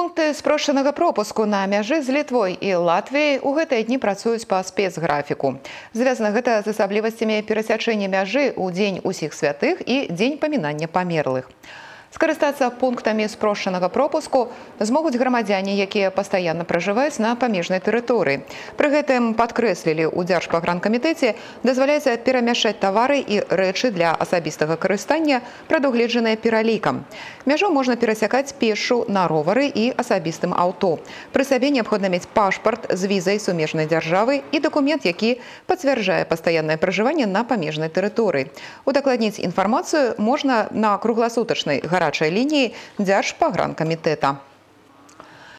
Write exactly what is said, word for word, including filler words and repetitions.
Пункты спрошчанага пропуску на мяжы з Літвой і Латвіяй у гэтыя дні працуюць па спецграфіку. Звязана гэта з асаблівасцямі перасячэння мяжы ў дзень усіх святых і дзень памінання памерлых. Скарыстацца пунктамі спрошчанага пропуску змогуць грамадзяне, якія пастаянна пражываюць на памежнай тэрыторыі. Пры гэтым падкрэслілі ў Дзяржпагранкамітэце, дазваляецца перамяшчаць тавары і рэчы для асабістага карыстання, прадугледжаныя пералікам. Мяжу можна перасякаць пешшу на ровары і асабістым аўто. Пры сабе неабходна мець пашпарт з візай сумежнай дзяржавы і дакумент, які пацвярджае пастаяннае пражыванне на памежнай тэрыторыі. Удакладніць інфармацыю можна на кругласутачнай гарачай лініі Дзяржпагранкамітэта.